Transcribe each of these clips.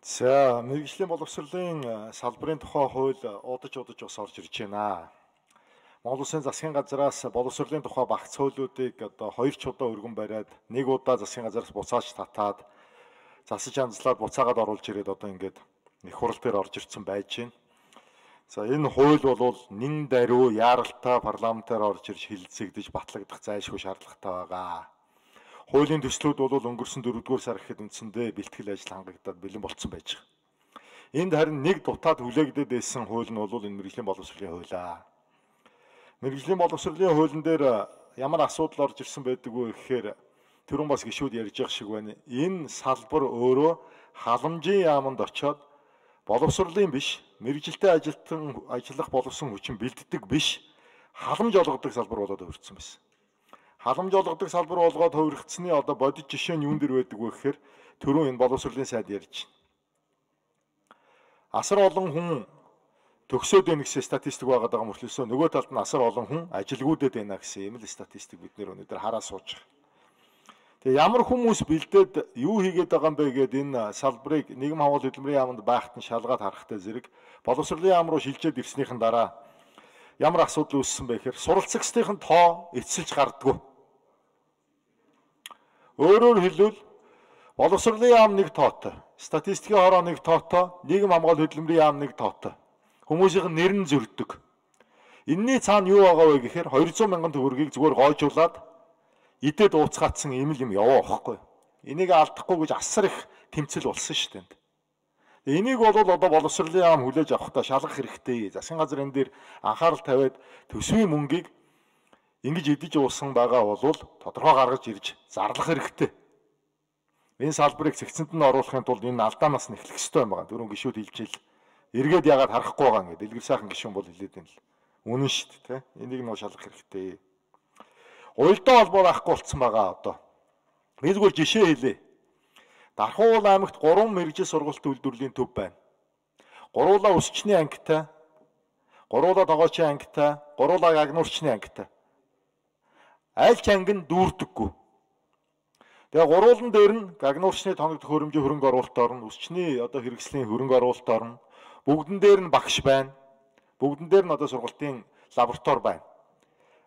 За, мэргэжлийн боловсролын салбарын тухай хууль удаж бас орж ирж байна. Монгол Улсын засгийн газраас боловсролын тухай багц хуулиудыг одоо 2 ч удаа өргөн бариад нэг удаа засгийн газраас буцааж татаад засаж анзлаад буцаагаад оруулж ирээд одоо ингээд их хурал дээр орж ирсэн байж байна. За, энэ хууль бол нэн даруй яаралтай парламентаар орж ирж хилцэгдэж батлагдах зайлшгүй шаардлагатай байгаа. Хуулийн төслүүд бол өнгөрсөн 4-р сар гэхэд үндсэндээ бэлтгэл ажил хангагдаад бэлэн болцсон байж байгаа. Энд харин нэг дутаад хүлээгдээд байсан хууль нь бол энэ мэргэжлийн боловсролын хуулиа. Мэргэжлийн боловсролын хуулийн дээр ямар асуудал орж ирсэн байдаг вэ гэхээр түрүүн бас гишүүд ярьж байгаа шиг байна. Энэ салбар өөрөө халамжийн яамд очиод боловсролын биш, мэргэжилтэй ажиллах болсон хүчин бэлддэг биш, халамж олгодог салбар болоод өртсөн байсан. Халамж олгодог салбар болгоод хувиргацсны одоо бодит жишээ нь юун дээр байдаг вэ гэхээр түрүүн энэ боловсролын сайд ярьж байна. Асар олон хүн төгсөөд байна гэсэн статистик байгаа мөртлөөсөө нөгөө талд нь асар олон хүн ажилгүйдэд байна гэсэн ийм л статистик бид нэр өнөөдөр хараа сууж байгаа. Тэгээ ямар хүмүүс бэлдээд юу хийгээд байгаа юм бэ гэдэг энэ салбарыг нийгэм хаваал хөдөлмөрийн яамд байхад нь шалгаад харахтай зэрэг боловсролын яам руу шилжээд ирснийхэн дараа ямар асуудал үүссэн бэ гэхээр суралцагчдын тоо эцэлж гардггүй. Өөрөөр хэлбэл боловсролын яам нэг тоотой, статистикийн хороо нэг тоотой, нийгэм хамгаалал хөдөлмөрийн яам нэг тоотой. Хүмүүсийн нэр нь зөрдөг. Энийний цаана юу байгаа вэ гэхээр 200 мянган төгрөгийг зүгээр гойжуулаад идээд ууцгаатсан ийм л юм яваа байхгүй. Энийг алдахгүй гэж асар их тэмцэл болсон шүү дээ. Энийг бол одоо боловсролын яам хүлээж авахдаа шалгах хэрэгтэй. Засгийн газар энэ дээр анхаарал тавиад төсвийн мөнгийг ингэж идэж уусан байгаа бол тодорхой гаргаж ирж зарлах хэрэгтэй. Энэ салбарыг цэгцэнд нь оруулахын тулд энэ алдаанаас нь эхлэх ёстой юм байна. Дөрөв гишүүд хэлжил. Эргээд яагаад харахгүй байгаа юм гэдэг. Дэлгэр сайхан гишүүн бол хэлээд байна л. Үнэн шүү дээ, тэ. Энийг нь шалгах хэрэгтэй. Уялдаа холбоо байхгүй болцсон байгаа одоо. Би зүгээр жишээ хэлье. Дархуул аймагт 3 мэргэжил сургалт үйлдвэрлэлийн төв байна. Гуруула өсчний ангитай, гуруула тогоочийн ангитай, гуруула гагнуурчны ангитай. Аль ч анги нь дүүрдэггүй. Тэгээ гуруулан дээр нь гагнуурчны тоног төхөөрөмжийн хөрөнгө оруулалт орно, өсчний одоо хэрэгслийн хөрөнгө оруулалт орно. Бүгдэн дээр нь багш байна. Бүгдэн дээр нь одоо сургалтын лаборатори байна.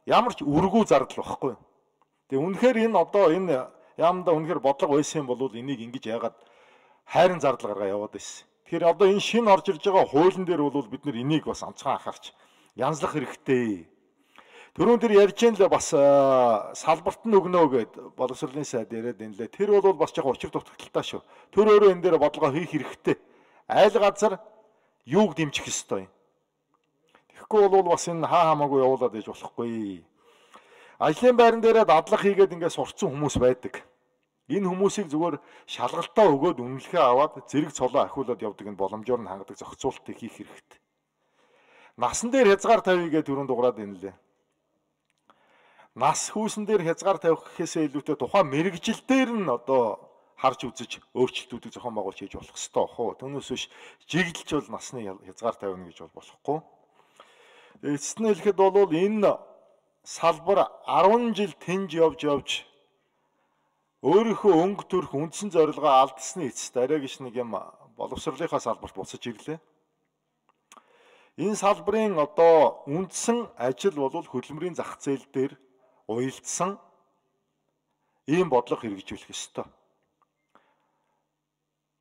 Ямар ч үргүү зардал واخгүй. Тэгээ үнэхээр энэ одоо энэ яамда үнэхээр бодлого байсан бол энийг ингэж яагаад хайрын зардал гаргаа яваад байсан. Тэгэхээр одоо энэ шинэ орж ирж байгаа хуулийн дээр бол бид нар энийг бас онцгой анхаарч янзлах хэрэгтэй. Түрүүн тэр ярьж ийн л бас салбарт нь өгнө гэд боловсролын сайд яриад энэ лээ. Тэр бол бас яг учир дутагдaltaа шүү. Тэр өөрөө энэ дээр бодлого хийх хэрэгтэй. Айл газар юуг дэмжих ёстой юм. Тэгэхгүй бол бас энэ хаа хамаагүй явуулаад иж болохгүй. Ажлын байран дээрээ дадлага хийгээд ингээд сурцсан хүмүүс байдаг. Энэ хүмүүсийг зүгээр шалгалтаа өгөөд үнэлэхээ аваад зэрэг цолоо ахиулаад явдаг энэ боломжоор нь хангадаг зохицуултыг хийх хэрэгтэй. Насан дээр хязгаар тавья гэдэг түрүүнд дуграад энэ лээ. Нас хүүсэн дээр хязгаар тавих гэхээсээ илүүтэй тухайн мэрэгжил дээр нь одоо харж үзэж өөрчлөлтүүдийг зохион байгуулж хийж болох ёстой хөө. Түүнээс биш жиглэлч бол насны хязгаар тавина гэж бол болохгүй. Эцэст нь хэлэхэд бол энэ салбар 10 жил тэнж явж өөрийнхөө өнгө төрх үндсэн зорилгоо алдсны эцэст арай гэж нэг юм боловсролынхаа салбарт буцаж ирлээ. Энэ салбарын одоо үндсэн ажил бол хөдөлмөрийн зах зээл дээр уялдсан ийм бодлого хэрэгжүүлэх ёстой.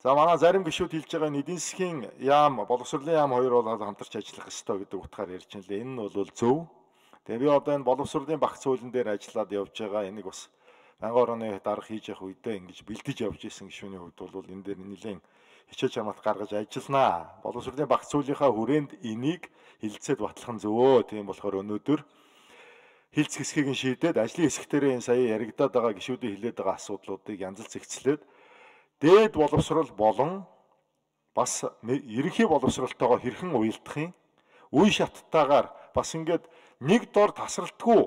За манай зарим гишүүд хэлж байгаа эдийн засгийн яам, боловсролын яам хоёр бол хамтарч ажиллах ёстой гэдэг утгаар ярьж байна лээ. Энэ нь бол зөв. Тэгээ би одоо энэ боловсролын багц хуулийн дээр ажиллаад явж байгаа энийг бас байнгын орны дарга хийж явах үедээ ингэж бэлдэж явж исэн гишүүний хувьд бол энэ дээр нэлийн хичээж хамгаалт гаргаж ажилланаа. Боловсролын багц хуулийнхаа хүрээнд энийг хилцээд батлах нь зөвөө. Тийм болохоор өнөөдөр хилц хэсгийг нь шийдээд ажлын хэсгтэрээ энэ сая яригадаад байгаа гишүүдийн хэлээд байгаа асуудлуудыг янзалж зэгцлээд дээд боловсрол болон бас ерөнхий боловсролтойгоо хэрхэн уялдахын үе шаттайгаар бас ингээд нэг дор тасралтгүй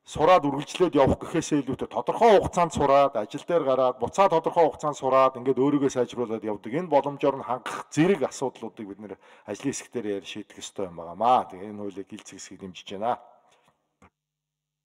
сураад үргэлжлээд явах гэхээсээ илүүтэй тодорхой хугацаанд сураад ажил дээр гараад буцаа тодорхой хугацаанд сураад ингээд өөрийгөө сайжруулад явдаг энэ боломжоор нь хангах зэрэг асуудлуудыг бид нэр ажлын хэсгтэр яар шийдэх ёстой юм байнамаа. Тэгээ энэ хуулийг хилц хэсгийг дэмжиж байна.